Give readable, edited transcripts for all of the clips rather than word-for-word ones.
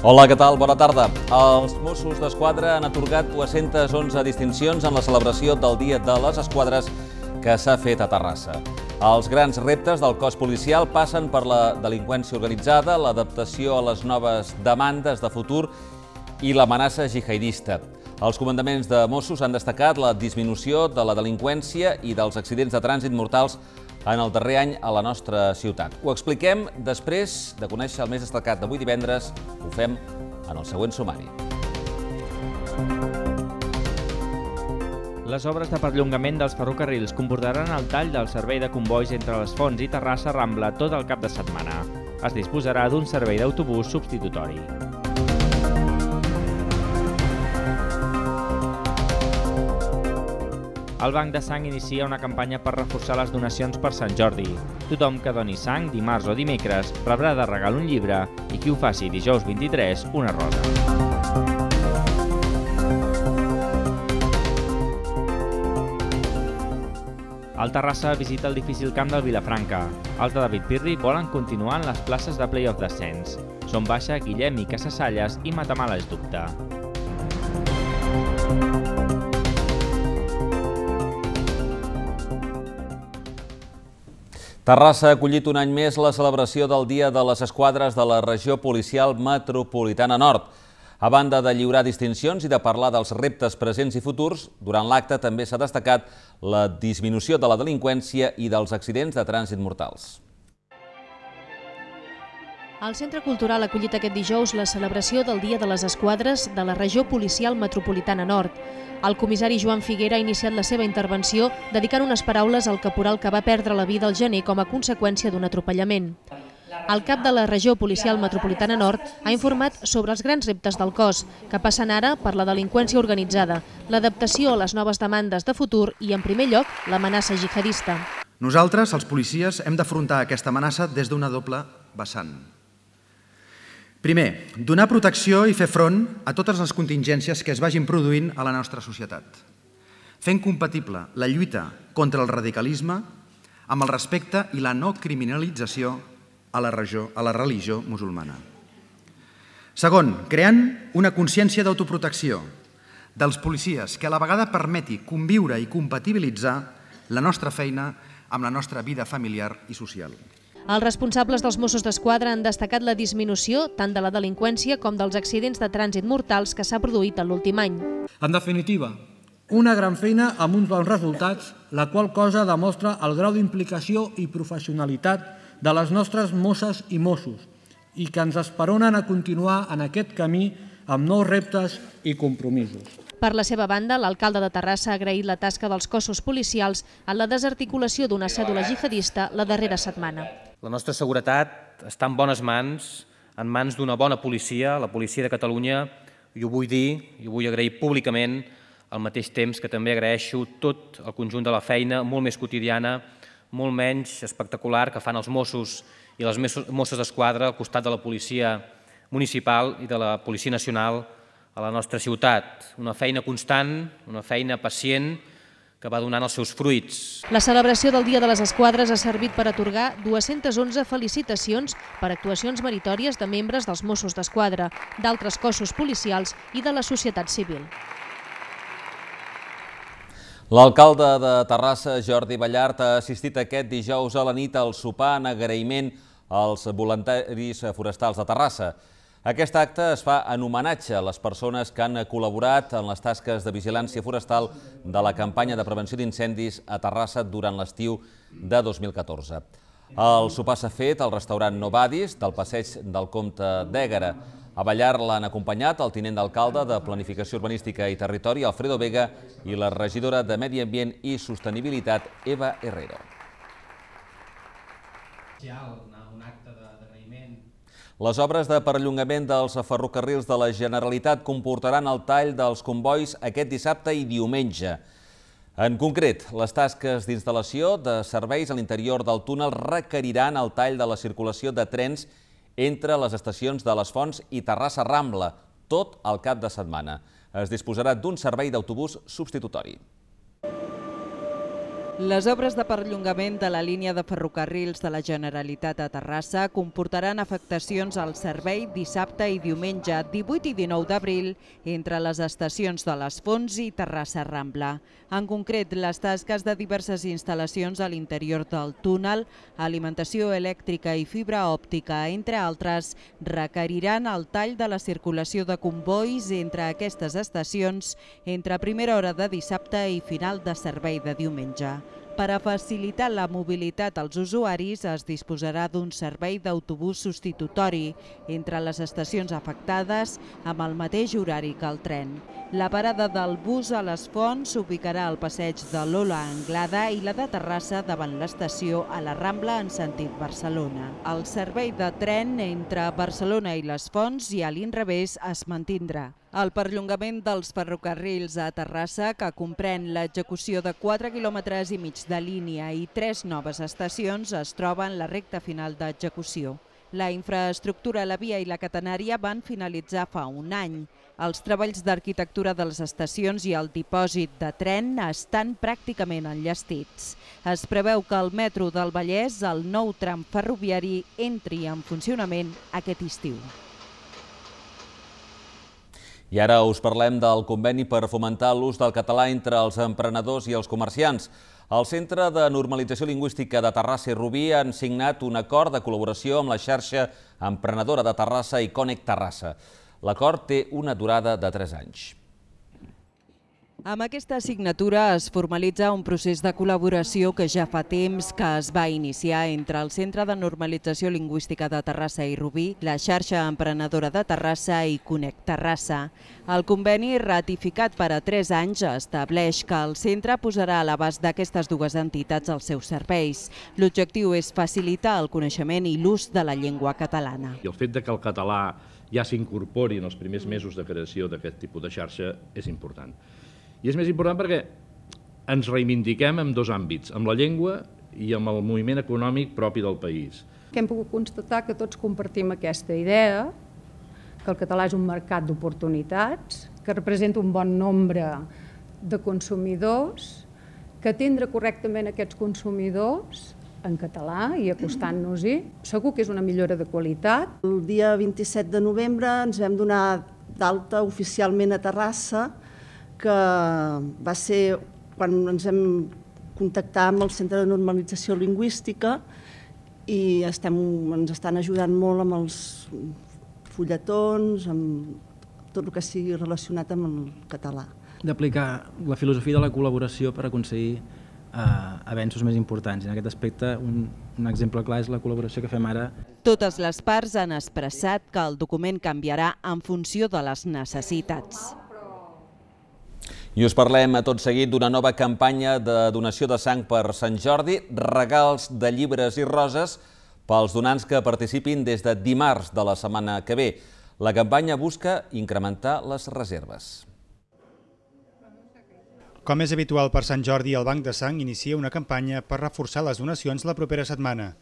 Hola, què tal? Bona tarda. Els Mossos d'Esquadra han atorgat 211 distincions en la celebració del Dia de les Esquadres que s'ha fet a Terrassa. Els grans reptes del cos policial passen per la delinqüència organitzada, l'adaptació a les noves demandes de futur i l'amenaça jihadista. Els comandaments de Mossos han destacat la disminució de la delinqüència i dels accidents de trànsit mortals en el darrer any a la nostra ciutat. Ho expliquem després de conèixer el més destacat d'avui divendres. Ho fem en el següent sumari. Les obres de perllongament dels ferrocarrils comportaran el tall del servei de combois entre les Fonts i Terrassa-Rambla tot el cap de setmana. Es disposarà d'un servei d'autobús substitutori. El Banc de Sang inicia una campanya per reforçar les donacions per Sant Jordi. Tothom que doni sang dimarts o dimecres rebrà de regal un llibre i qui ho faci dijous 23 una rosa. El Terrassa visita el difícil camp del Vilafranca. Els de David Pirri volen continuar en les places de play-off d'ascens. Són Baixa, Guillem i Casasalles i Matamala és dubte. Terrassa ha acollit un any més la celebració del Dia de les Esquadres de la Regió Policial Metropolitana Nord. A banda de lliurar distincions i de parlar dels reptes presents i futurs, durant l'acte també s'ha destacat la disminució de la delinqüència i dels accidents de trànsit mortals. El Centre Cultural ha acollit aquest dijous la celebració del Dia de les Esquadres de la Regió Policial Metropolitana Nord. El comissari Joan Figuera ha iniciat la seva intervenció dedicant unes paraules al caporal que va perdre la vida al gener com a conseqüència d'un atropellament. El cap de la Regió Policial Metropolitana Nord ha informat sobre els grans reptes del cos, que passen ara per la delinqüència organitzada, l'adaptació a les noves demandes de futur i, en primer lloc, l'amenaça jihadista. Nosaltres, els policies, hem d'afrontar aquesta amenaça des d'una doble vessant. Primer, donar protecció i fer front a totes les contingències que es vagin produint a la nostra societat, fent compatible la lluita contra el radicalisme amb el respecte i la no criminalització a la religió musulmana. Segon, creant una consciència d'autoprotecció dels policies que a la vegada permeti conviure i compatibilitzar la nostra feina amb la nostra vida familiar i social. Els responsables dels Mossos d'Esquadra han destacat la disminució tant de la delinqüència com dels accidents de trànsit mortals que s'ha produït en l'últim any. En definitiva, una gran feina amb uns bons resultats, la qual cosa demostra el grau d'implicació i professionalitat de les nostres mosses i Mossos i que ens esperonen a continuar en aquest camí amb nous reptes i compromisos. Per la seva banda, l'alcalde de Terrassa ha agraït la tasca dels cossos policials en la desarticulació d'una cèdula jihadista la darrera setmana. La nostra seguretat està en bones mans, en mans d'una bona policia, la policia de Catalunya, i ho vull dir, i ho vull agrair públicament, al mateix temps que també agraeixo tot el conjunt de la feina, molt més quotidiana, molt menys espectacular, que fan els Mossos i les Mosses d'Esquadra al costat de la policia municipal i de la Policia Nacional a la nostra ciutat. Una feina constant, una feina pacient, que va donant els seus fruits. La celebració del Dia de les Esquadres ha servit per atorgar 211 felicitacions per actuacions meritòries de membres dels Mossos d'Esquadra, d'altres cossos policials i de la societat civil. L'alcalde de Terrassa, Jordi Ballart, ha assistit aquest dijous a la nit al sopar en agraïment als voluntaris forestals de Terrassa. Aquest acte es fa en homenatge a les persones que han col·laborat en les tasques de vigilància forestal de la campanya de prevenció d'incendis a Terrassa durant l'estiu de 2014. El sopar s'ha fet al restaurant Novadis del passeig del Comte d'Ègara. A Ballart l'han acompanyat el tinent d'alcalde de Planificació Urbanística i Territori, Alfredo Vega, i la regidora de Medi Ambient i Sostenibilitat, Eva Herrero. Les obres de perllongament dels ferrocarrils de la Generalitat comportaran el tall dels combois aquest dissabte i diumenge. En concret, les tasques d'instal·lació de serveis a l'interior del túnel requeriran el tall de la circulació de trens entre les estacions de les Fonts i Terrassa-Rambla, tot el cap de setmana. Es disposarà d'un servei d'autobús substitutori. Les obres de perllongament de la línia de ferrocarrils de la Generalitat a Terrassa comportaran afectacions al servei dissabte i diumenge 18 i 19 d'abril entre les estacions de les Fonts i Terrassa Rambla. En concret, les tasques de diverses instal·lacions a l'interior del túnel, alimentació elèctrica i fibra òptica, entre altres, requeriran el tall de la circulació de combois entre aquestes estacions entre primera hora de dissabte i final de servei de diumenge. Per a facilitar la mobilitat als usuaris es disposarà d'un servei d'autobús substitutori entre les estacions afectades amb el mateix horari que el tren. La parada del bus a les Fonts s'ubicarà al passeig de Lola Anglada i la de Terrassa davant l'estació a la Rambla en sentit Barcelona. El servei de tren entre Barcelona i les Fonts i a l'inrevés es mantindrà. El perllongament dels ferrocarrils a Terrassa, que comprèn l'execució de 4,5 quilòmetres de línia i 3 noves estacions, es troba en la recta final d'execució. La infraestructura, la via i la catenària van finalitzar fa un any. Els treballs d'arquitectura de les estacions i el dipòsit de tren estan pràcticament enllestits. Es preveu que el metro del Vallès, el nou tram ferroviari, entri en funcionament aquest estiu. I ara us parlem del conveni per fomentar l'ús del català entre els emprenedors i els comerciants. El Centre de Normalització Lingüística de Terrassa i Rubí han signat un acord de col·laboració amb la xarxa emprenedora de Terrassa i Connect Terrassa. L'acord té una durada de 3 anys. Amb aquesta signatura es formalitza un procés de col·laboració que ja fa temps que es va iniciar entre el Centre de Normalització Lingüística de Terrassa i Rubí, la xarxa emprenedora de Terrassa i Connect Terrassa. El conveni, ratificat per a 3 anys, estableix que el centre posarà a l'abast d'aquestes dues entitats els seus serveis. L'objectiu és facilitar el coneixement i l'ús de la llengua catalana. I el fet que el català ja s'incorpori en els primers mesos de creació d'aquest tipus de xarxa és important. I és més important perquè ens reivindiquem en 2 àmbits, amb la llengua i amb el moviment econòmic propi del país. Hem pogut constatar que tots compartim aquesta idea, que el català és un mercat d'oportunitats, que representa un bon nombre de consumidors, que atendre correctament aquests consumidors en català i acostant-nos-hi. Segur que és una millora de qualitat. El dia 27 de novembre ens vam donar d'alta oficialment a Terrassa, que va ser quan ens vam contactar amb el Centre de Normalització Lingüística i ens estan ajudant molt amb els fulletons, amb tot el que sigui relacionat amb el català. D'aplicar la filosofia de la col·laboració per aconseguir avenços més importants. En aquest aspecte, un exemple clar és la col·laboració que fem ara. Totes les parts han expressat que el document canviarà en funció de les necessitats. I us parlem tot seguit d'una nova campanya de donació de sang per Sant Jordi, regals de llibres i roses pels donants que participin des de dimarts de la setmana que ve. La campanya busca incrementar les reserves. Com és habitual per Sant Jordi, el Banc de Sang inicia una campanya per reforçar les donacions la propera setmana.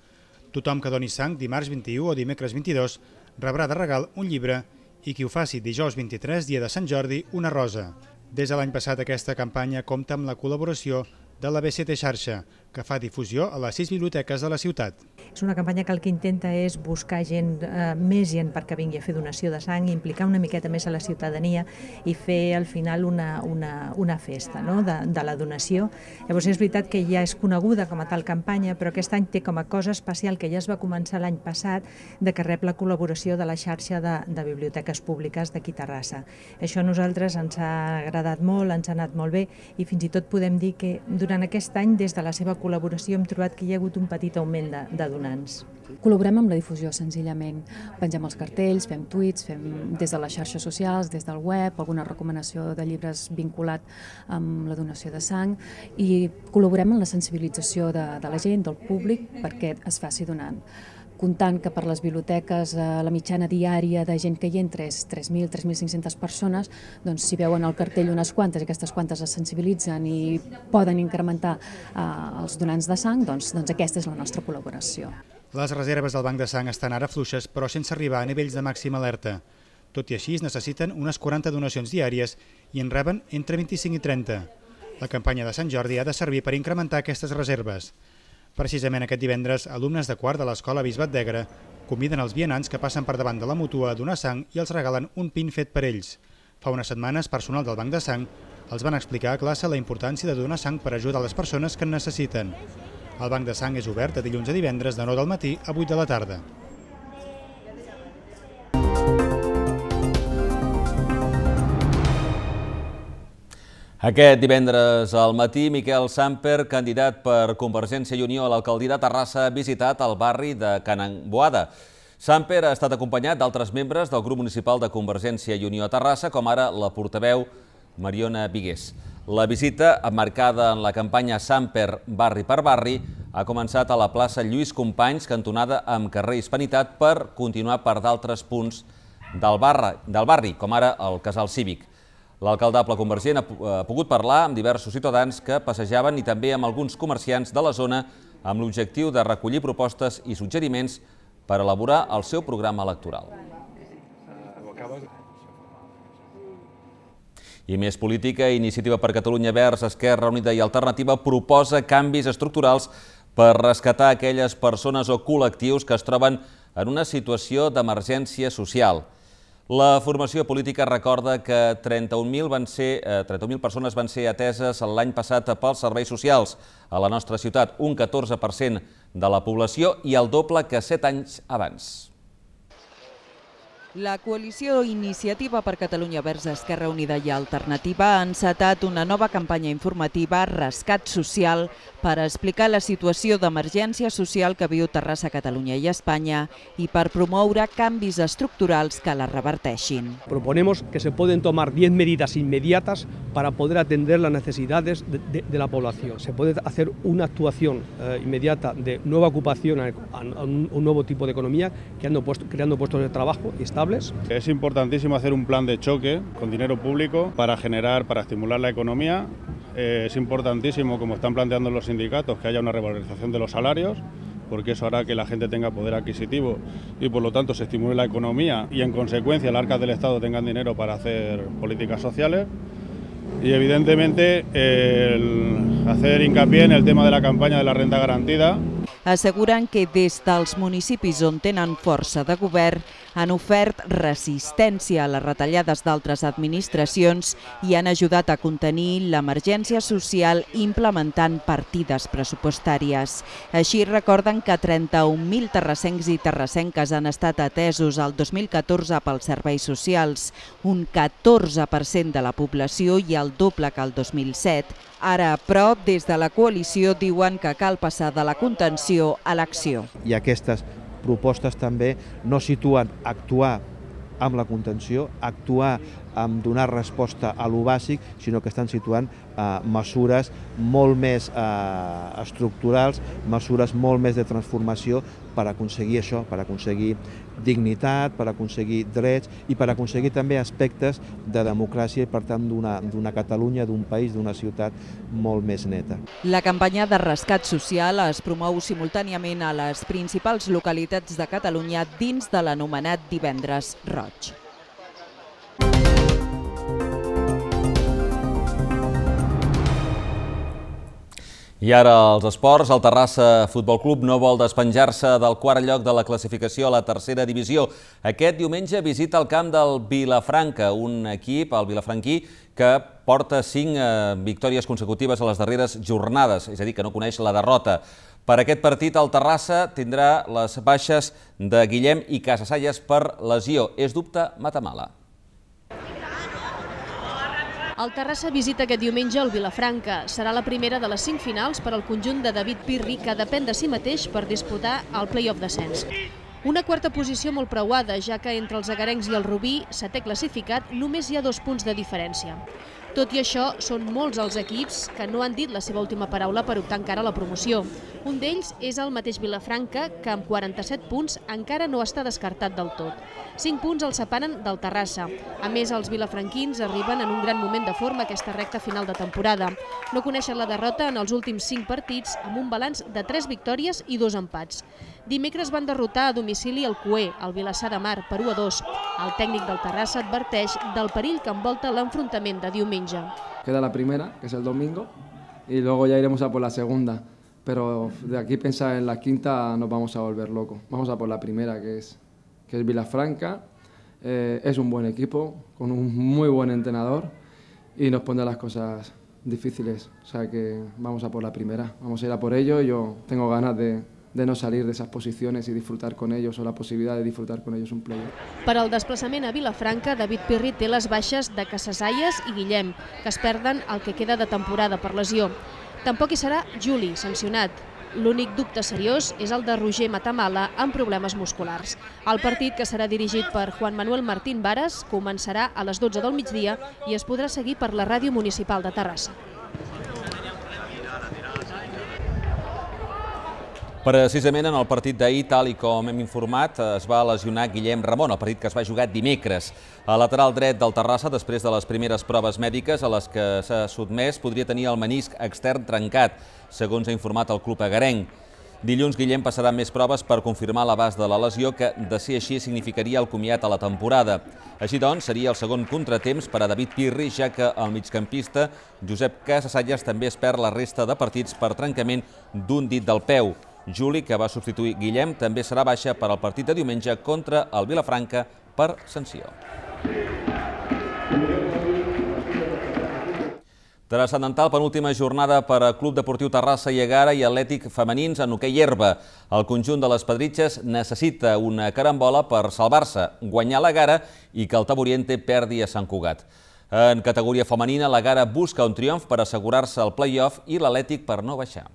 Tothom que doni sang dimarts 21 o dimecres 22 rebrà de regal un llibre i qui ho faci dijous 23, dia de Sant Jordi, una rosa. Des de l'any passat aquesta campanya compta amb la col·laboració de la BCT Xarxa, que fa difusió a les 6 biblioteques de la ciutat. És una campanya que el que intenta és buscar més gent perquè vingui a fer donació de sang, implicar una miqueta més a la ciutadania i fer al final una festa de la donació. Llavors és veritat que ja és coneguda com a tal campanya, però aquest any té com a cosa especial que ja es va començar l'any passat de que rep la col·laboració de la xarxa de biblioteques públiques d'aquí Terrassa. Això a nosaltres ens ha agradat molt, ens ha anat molt bé i fins i tot podem dir que durant aquest any, des de la seva col·laboració, hem trobat que hi ha hagut un petit augment de donants. Col·laborem amb la difusió, senzillament. Pengem els cartells, fem tuits, fem des de les xarxes socials, des del web, alguna recomanació de llibres vinculat amb la donació de sang i col·laborem en la sensibilització de la gent, del públic, perquè es faci donant. Comptant que per les biblioteques la mitjana diària de gent que hi entra és 3.000, 3.500 persones, doncs si veuen el cartell unes quantes i aquestes quantes es sensibilitzen i poden incrementar els donants de sang, doncs aquesta és la nostra col·laboració. Les reserves del Banc de Sang estan ara fluixes, però sense arribar a nivells de màxima alerta. Tot i així, es necessiten unes 40 donacions diàries i en reben entre 25 i 30. La campanya de Sant Jordi ha de servir per incrementar aquestes reserves. Precisament aquest divendres, alumnes de quart de l'Escola Bisbat d'Egra conviden els vianants que passen per davant de la mútua a donar sang i els regalen un pin fet per ells. Fa unes setmanes, personal del Banc de Sang els van explicar a classe la importància de donar sang per ajudar les persones que en necessiten. El Banc de Sang és obert de dilluns a divendres de 9 del matí a 8 de la tarda. Aquest divendres al matí, Miquel Samper, candidat per Convergència i Unió a l'alcaldia de Terrassa, ha visitat el barri de Can Boada. Samper ha estat acompanyat d'altres membres del grup municipal de Convergència i Unió a Terrassa, com ara la portaveu Mariona Vigués. La visita, emmarcada en la campanya Samper barri per barri, ha començat a la plaça Lluís Companys, cantonada amb carrer Hispanitat, per continuar per d'altres punts del barri, com ara el Casal Cívic. L'alcaldable convergent ha pogut parlar amb diversos ciutadans que passejaven i també amb alguns comerciants de la zona amb l'objectiu de recollir propostes i suggeriments per elaborar el seu programa electoral. I més política, Iniciativa per Catalunya Verds, Esquerra Unida i Alternativa proposa canvis estructurals per rescatar aquelles persones o col·lectius que es troben en una situació d'emergència social. La formació política recorda que 31.000 persones van ser ateses l'any passat pels serveis socials a la nostra ciutat, un 14% de la població i el doble que 7 anys abans. La coalició Iniciativa per Catalunya Verds, Esquerra Unida i Alternativa ha encetat una nova campanya informativa, Rescat Social, per explicar la situació d'emergència social que viu Terrassa, Catalunya i Espanya i per promoure canvis estructurals que la reverteixin. Proponemos que se pueden tomar 10 medidas inmediatas para poder atender las necesidades de la población. Se puede hacer una actuación inmediata de nueva ocupación a un nuevo tipo de economía, creando puestos de trabajo estables. Es importantísimo hacer un plan de choque con dinero público para estimular la economía. Es importantísimo, como están planteando los sindicatos, que haya una revalorización de los salarios, porque eso hará que la gente tenga poder adquisitivo y por lo tanto se estimule la economía y en consecuencia las arcas del Estado tengan dinero para hacer políticas sociales. Y evidentemente hacer hincapié en el tema de la campaña de la renta garantida. Asseguren que des dels municipis on tenen força de govern han ofert resistència a les retallades d'altres administracions i han ajudat a contenir l'emergència social implementant partides pressupostàries. Així recorden que 31.000 terrassencs i terrassenques han estat atesos el 2014 pels serveis socials, un 14% de la població i el doble que el 2007. Ara, però, des de la coalició diuen que cal passar de la contenció a l'acció. I aquestes propostes també no situen actuar amb la contenció, actuar amb donar resposta a lo bàsic, sinó que estan situant mesures molt més estructurals, mesures molt més de transformació per aconseguir això, per aconseguir dignitat, per aconseguir drets i per aconseguir també aspectes de democràcia i, per tant, d'una Catalunya, d'un país, d'una ciutat molt més neta. La campanya de rescat social es promou simultàniament a les principals localitats de Catalunya dins de l'anomenat Divendres Roig. I ara els esports. El Terrassa Futbol Club no vol despenjar-se del quart lloc de la classificació a la tercera divisió. Aquest diumenge visita el camp del Vilafranca, un equip, el vilafranquí, que porta 5 victòries consecutives a les darreres jornades, és a dir, que no coneix la derrota. Per aquest partit, el Terrassa tindrà les baixes de Guillem i Casasallas per lesió. És dubte Matamala. El Terrassa visita aquest diumenge el Vilafranca. Serà la primera de les 5 finals per al conjunt de David Pirri, que depèn de si mateix per disputar el play-off descens. Una quarta posició molt preuada, ja que entre els agarencs i el Rubí, 7è classificat, només hi ha 2 punts de diferència. Tot i això, són molts els equips que no han dit la seva última paraula per optar encara a la promoció. Un d'ells és el mateix Vilafranca, que amb 47 punts encara no està descartat del tot. 5 punts el separen del Terrassa. A més, els vilafranquins arriben en un gran moment de forma aquesta recta final de temporada. No coneixen la derrota en els últims 5 partits, amb un balanç de 3 victòries i 2 empats. Dimecres van derrotar a domicili el Cué, el Vilassar de Mar, per 1-2. El tècnic del Terrassa adverteix del perill que envolta l'enfrontament de diumenge. Queda la primera, que es el domingo, y luego ya iremos a por la segunda. Pero de aquí pensar en la quinta nos vamos a volver locos. Vamos a por la primera, que es Vilafranca. Es un buen equipo, con un muy buen entrenador y nos pondrá las cosas difíciles. O sea que vamos a por la primera, vamos a ir a por ello. Yo tengo ganas de no salir de esas posiciones y disfrutar con ellos, o la posibilitat de disfrutar con ellos un playoff. Per al desplaçament a Vilafranca, David Pirri té les baixes de Casasalles i Guillem, que es perden el que queda de temporada per lesió. Tampoc hi serà Juli, sancionat. L'únic dubte seriós és el de Roger Matamala amb problemes musculars. El partit, que serà dirigit per Juan Manuel Martín Varas, començarà a les 12 del migdia i es podrà seguir per la Ràdio Municipal de Terrassa. Precisament en el partit d'ahir, tal i com hem informat, es va lesionar Guillem Ramon, el partit que es va jugar dimecres. El lateral dret del Terrassa, després de les primeres proves mèdiques a les que s'ha sotmès, podria tenir el menisc extern trencat, segons ha informat el club agarenc. Dilluns, Guillem passarà més proves per confirmar l'abast de la lesió, que, de ser així, significaria el comiat a la temporada. Així doncs, seria el segon contratemps per a David Pirri, ja que el migcampista Josep Casasalles també es perd la resta de partits per trencament d'un dit del peu. Juli, que va substituir Guillem, també serà baixa per al partit de diumenge contra el Vilafranca per sanció. Transcendental penúltima jornada per a Club Deportiu Terrassa i Ègara i Atlètic femenins en hoquei herba. El conjunt de les Pedritxes necessita una carambola per salvar-se, guanyar l'Ègara i que el Taboriente perdi a Sant Cugat. En categoria femenina, l'Ègara busca un triomf per assegurar-se el play-off i l'Atlètic per no baixar.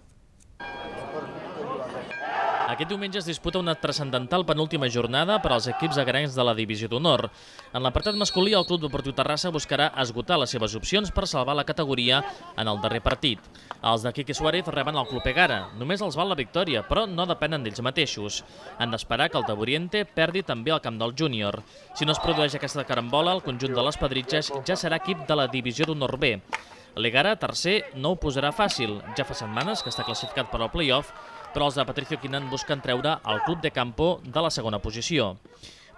Aquest diumenge es disputa una transcendental penúltima jornada per als equips agarencs de la Divisió d'Honor. En l'apartat masculí, el Club Deportiu Terrassa buscarà esgotar les seves opcions per salvar la categoria en el darrer partit. Els de Quique Suárez reben el Club Ègara. Només els val la victòria, però no depenen d'ells mateixos. Han d'esperar que el Taboriente perdi també al camp del júnior. Si no es produeix aquesta carambola, el conjunt de les Pedritxes ja serà equip de la Divisió d'Honor B. L'Ègara, tercer, no ho posarà fàcil. Ja fa setmanes que està classificat per al play-off, però els de Patricio Quinan busquen treure el Club de Campo de la segona posició.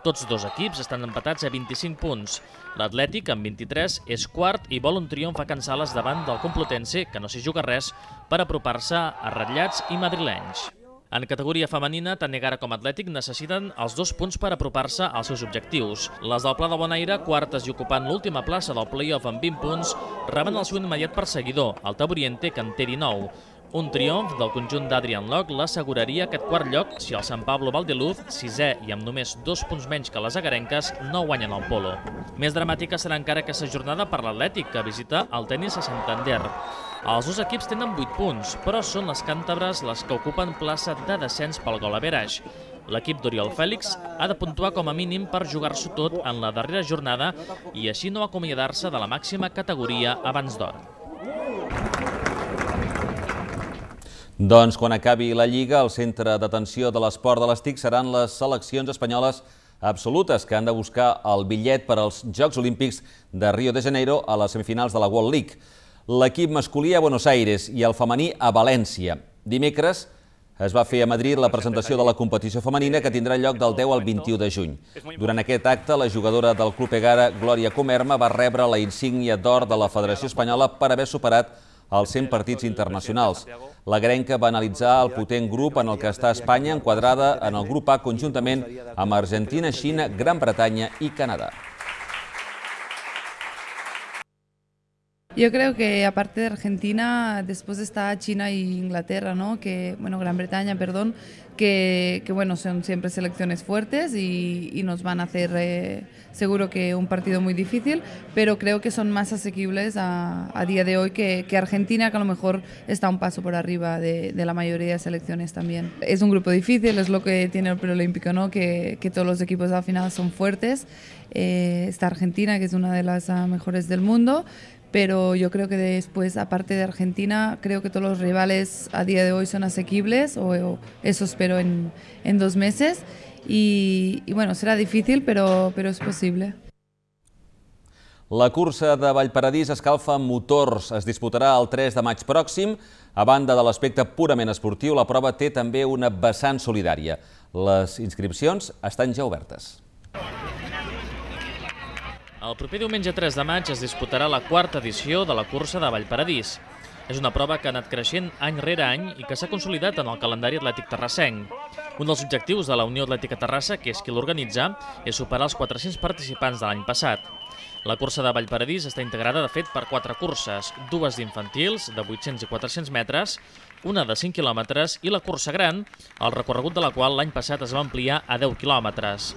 Tots dos equips estan empatats a 25 punts. L'Atlètic, amb 23, és quart i vol un triomf a Can Sales davant del Complutense, que no s'hi juga res, per apropar-se a ratllats i madrilenys. En categoria femenina, tant Ègara com Atlètic necessiten els 2 punts per apropar-se als seus objectius. Les del Pla de Bonaire, quartes i ocupant l'última plaça del play-off amb 20 punts, reben el seu immediat perseguidor, el Taboriente, que en té 19. Un triomf del conjunt d'Adrian Loc l'asseguraria aquest quart lloc si el Sant Pablo Valdeluz, sisè i amb només 2 punts menys que les agarenques, no guanyen el polo. Més dramàtica serà encara aquesta jornada per l'Atlètic, que visita el Tenis a Santander. Els dos equips tenen 8 punts, però són les càntabres les que ocupen plaça de descens pel gol average. L'equip d'Oriol Fèlix ha de puntuar com a mínim per jugar-s'ho tot en la darrera jornada i així no acomiadar-se de la màxima categoria abans d'hora. Doncs quan acabi la Lliga, el centre d'atenció de l'esport de les TIC seran les seleccions espanyoles absolutes que han de buscar el bitllet per als Jocs Olímpics de Rio de Janeiro a les semifinals de la World League. L'equip masculí a Buenos Aires i el femení a València. Dimecres es va fer a Madrid la presentació de la competició femenina que tindrà lloc del 10 al 21 de juny. Durant aquest acte, la jugadora del Club Ègara, Glòria Comerma, va rebre la insígnia d'or de la Federació Espanyola per haver superat els 100 partits internacionals. La grenca va analitzar el potent grup en el que està Espanya, enquadrada en el grup A conjuntament amb Argentina, Xina, Gran Bretanya y Canadá. Yo creo que aparte de Argentina, después está China e Inglaterra, ¿no? Gran Bretaña, perdón, que bueno, son siempre selecciones fuertes y nos van a hacer seguro que un partido muy difícil, pero creo que son más asequibles a día de hoy que Argentina, que a lo mejor está un paso por arriba de la mayoría de selecciones también. Es un grupo difícil, es lo que tiene el preolímpico, ¿no? Que todos los equipos al final son fuertes. Está Argentina, que es una de las mejores del mundo, pero yo creo que después, aparte de Argentina, creo que todos los rivales a día de hoy son asequibles, o eso espero en 2 meses, y bueno, será difícil, pero es posible. La cursa de Vallparadís escalfa motors. Es disputarà el 3 de maig pròxim. A banda de l'aspecte purament esportiu, la prova té també una vessant solidària. Les inscripcions estan ja obertes. El proper diumenge 3 de maig es disputarà la quarta edició de la cursa de Vallparadís. És una prova que ha anat creixent any rere any i que s'ha consolidat en el calendari atlètic terrassenc. Un dels objectius de la Unió Atlètica Terrassa, que és qui l'organitza, és superar els 400 participants de l'any passat. La cursa de Vallparadís està integrada, de fet, per 4 curses, 2 d'infantils, de 800 i 400 metres, una de 5 quilòmetres i la cursa gran, el recorregut de la qual l'any passat es va ampliar a 10 quilòmetres.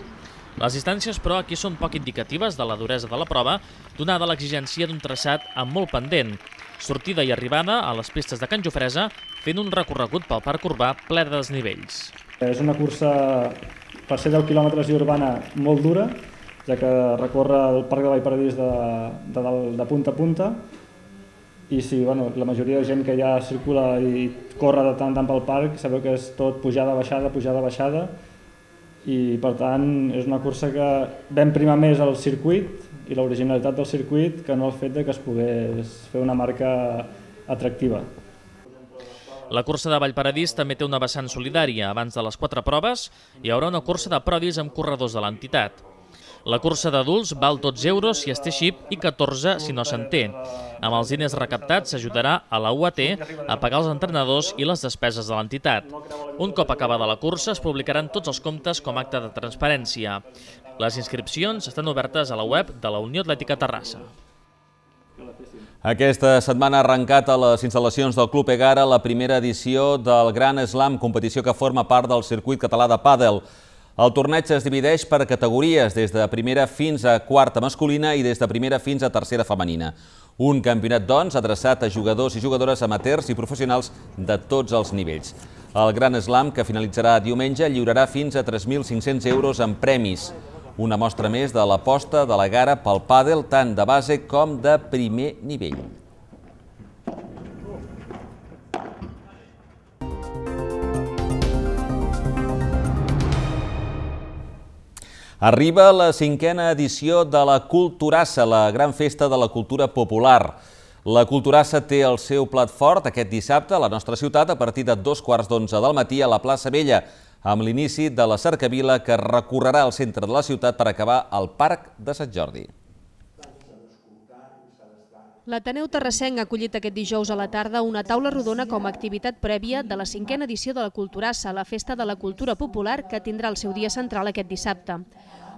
Les distàncies, però, aquí són poc indicatives de la duresa de la prova, donada l'exigència d'un traçat amb molt pendent, sortida i arribada a les pistes de Can Jofresa, fent un recorregut pel parc urbà ple de desnivells. És una cursa, per ser 10 quilòmetres i urbana, molt dura, ja que recorre el parc de Vallparadís de punta a punta, i sí, la majoria de gent que ja circula i corre de tant en tant pel parc, sabeu que és tot pujada, baixada, i per tant és una cursa que vam primar més el circuit i l'originalitat del circuit que no el fet que es pogués fer una marca atractiva. La cursa de Vallparadís també té una vessant solidària. Abans de les 4 proves hi haurà una cursa de prodis amb corredors de l'entitat. La cursa d'adults val 12 euros si es té xip i 14 si no se'n té. Amb els diners recaptats s'ajudarà a la UAT a pagar els entrenadors i les despeses de l'entitat. Un cop acabada la cursa es publicaran tots els comptes com a acte de transparència. Les inscripcions estan obertes a la web de la Unió Atlètica Terrassa. Aquesta setmana ha arrencat a les instal·lacions del Club Egara la primera edició del Gran Slam, competició que forma part del circuit català de pàdel. El torneig es divideix per categories, des de primera fins a quarta masculina i des de primera fins a tercera femenina. Un campionat, doncs, adreçat a jugadors i jugadores amateurs i professionals de tots els nivells. El Gran Slam, que finalitzarà diumenge, lliurarà fins a 3.500 euros en premis. Una mostra més de l'aposta de l'Egara pel pàdel, tant de base com de primer nivell. Arriba la 5a edició de la Culturassa, la gran festa de la cultura popular. La Culturassa té el seu plat fort aquest dissabte a la nostra ciutat a partir de 2:15 del matí a la plaça Vella, amb l'inici de la cercavila que recorrerà el centre de la ciutat per acabar al Parc de Sant Jordi. L'Ateneu Terrassenc ha acollit aquest dijous a la tarda una taula rodona com a activitat prèvia de la 5a edició de la Culturassa, la festa de la cultura popular que tindrà el seu dia central aquest dissabte.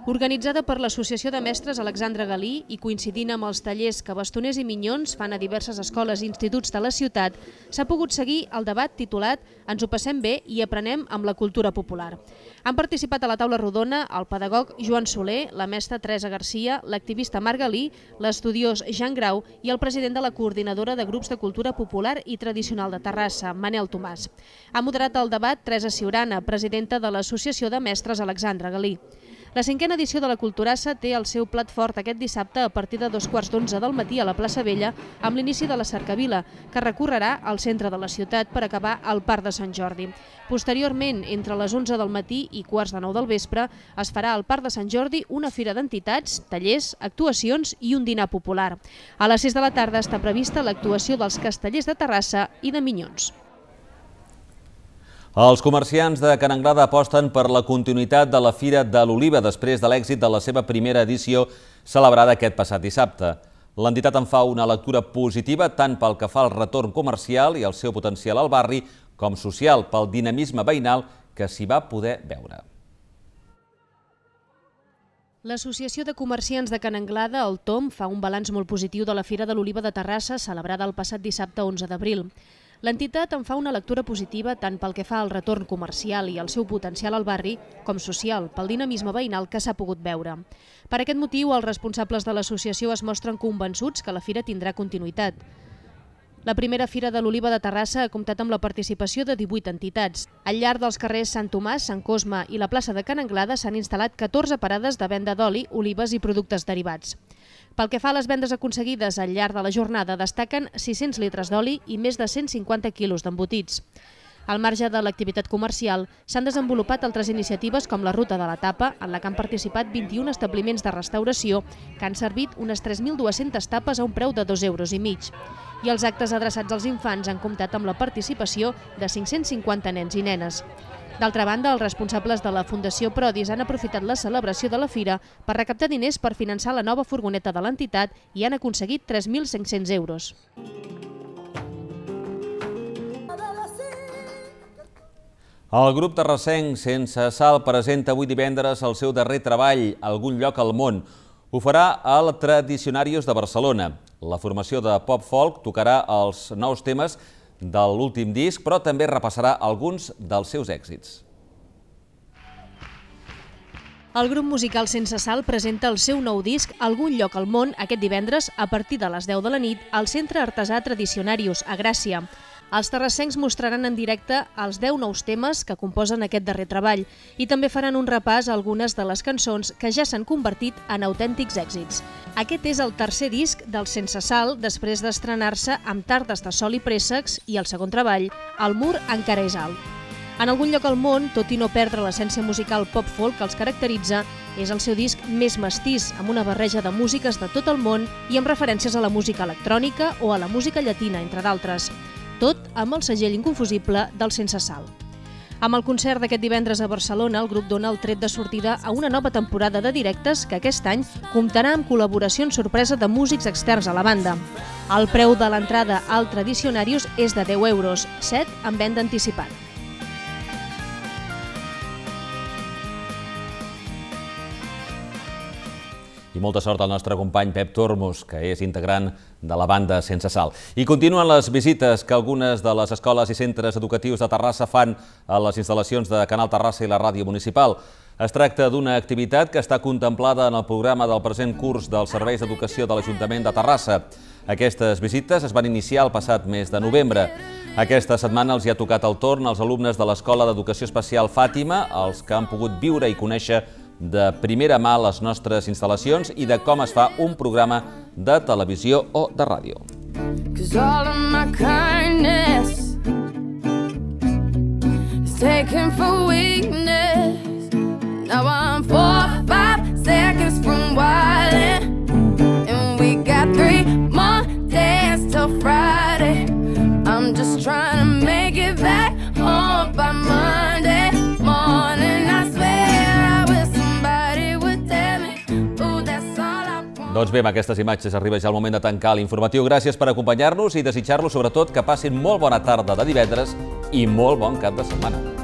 Organitzada per l'Associació de Mestres Alexandre Galí i coincidint amb els tallers que bastoners i minyons fan a diverses escoles i instituts de la ciutat, s'ha pogut seguir el debat titulat «Ens ho passem bé i aprenem amb la cultura popular». Han participat a la taula rodona el pedagog Joan Soler, la mestra Teresa Garcia, l'activista Marc Galí, l'estudiós Jean Grau i el president de la Coordinadora de Grups de Cultura Popular i Tradicional de Terrassa, Manel Tomàs. Ha moderat el debat Teresa Ciurana, presidenta de l'Associació de Mestres Alexandre Galí. La 5a edició de la Culturassa té el seu plat fort aquest dissabte a partir de 2:15 del matí a la plaça Vella amb l'inici de la cercavila, que recorrerà al centre de la ciutat per acabar al Parc de Sant Jordi. Posteriorment, entre les 11 del matí i 8:45 del vespre, es farà al Parc de Sant Jordi una fira d'entitats, tallers, actuacions i un dinar popular. A les 6 de la tarda està prevista l'actuació dels Castellers de Terrassa i de Minyons. Els comerciants de Can Anglada aposten per la continuïtat de la Fira de l'Oliva després de l'èxit de la seva primera edició celebrada aquest passat dissabte. L'entitat en fa una lectura positiva tant pel que fa al retorn comercial i el seu potencial al barri com social pel dinamisme veïnal que s'hi va poder veure. L'Associació de Comerciants de Can Anglada, el TOM, fa un balanç molt positiu de la Fira de l'Oliva de Terrassa celebrada el passat dissabte 11 d'abril. L'entitat en fa una lectura positiva tant pel que fa al retorn comercial i el seu potencial al barri, com social, pel dinamisme veïnal que s'ha pogut veure. Per aquest motiu, els responsables de l'associació es mostren convençuts que la fira tindrà continuïtat. La primera Fira de l'Oliva de Terrassa ha comptat amb la participació de 18 entitats. Al llarg dels carrers Sant Tomàs, Sant Cosme i la plaça de Can Anglada s'han instal·lat 14 parades de venda d'oli, olives i productes derivats. Pel que fa a les vendes aconseguides al llarg de la jornada, destaquen 600 litres d'oli i més de 150 quilos d'embotits. Al marge de l'activitat comercial, s'han desenvolupat altres iniciatives com la Ruta de la Tapa, en la que han participat 21 establiments de restauració que han servit unes 3.200 tapes a un preu de 2,5 €. I els actes adreçats als infants han comptat amb la participació de 550 nens i nenes. D'altra banda, els responsables de la Fundació Prodis han aprofitat la celebració de la fira per recaptar diners per finançar la nova furgoneta de l'entitat i han aconseguit 3.500 €. El grup terrassenc Sense Sal presenta avui divendres el seu darrer treball, Algun lloc al món. Ho farà al Tradicionarios de Barcelona. La formació de pop-folk tocarà els nous temes de l'últim disc, però també repassarà alguns dels seus èxits. El grup musical Sense Sal presenta el seu nou disc Algun lloc al món aquest divendres a partir de les 10 de la nit al Centre Artesà Tradicionarios, a Gràcia. Els terrassencs mostraran en directe els 10 nous temes que composen aquest darrer treball i també faran un repàs a algunes de les cançons que ja s'han convertit en autèntics èxits. Aquest és el tercer disc del Sense Sal després d'estrenar-se amb Tardes de sol i préssecs i el segon treball, El mur encara és alt. En Algun lloc al món, tot i no perdre l'essència musical pop-folk que els caracteritza, és el seu disc més mestís, amb una barreja de músiques de tot el món i amb referències a la música electrònica o a la música llatina, entre d'altres. Tot amb el segell inconfusible del Sense Sal. Amb el concert d'aquest divendres a Barcelona, el grup dona el tret de sortida a una nova temporada de directes que aquest any comptarà amb col·laboracions sorpresa de músics externs a la banda. El preu de l'entrada al Tradicionarios és de 10 €, 7 en venda anticipat. I molta sort al nostre company Pep Tormos, que és integrant de la banda Sense Sal. I continuen les visites que algunes de les escoles i centres educatius de Terrassa fan a les instal·lacions de Canal Terrassa i la ràdio municipal. Es tracta d'una activitat que està contemplada en el programa del present curs dels serveis d'educació de l'Ajuntament de Terrassa. Aquestes visites es van iniciar el passat mes de novembre. Aquesta setmana els hi ha tocat el torn als alumnes de l'Escola d'Educació Especial Fàtima, els que han pogut viure i conèixer de primera mà les nostres instal·lacions i de com es fa un programa de televisió o de ràdio. Doncs bé, amb aquestes imatges arriba ja el moment de tancar l'informatiu. Gràcies per acompanyar-nos i desitjar-los sobretot que passin molt bona tarda de divendres i molt bon cap de setmana.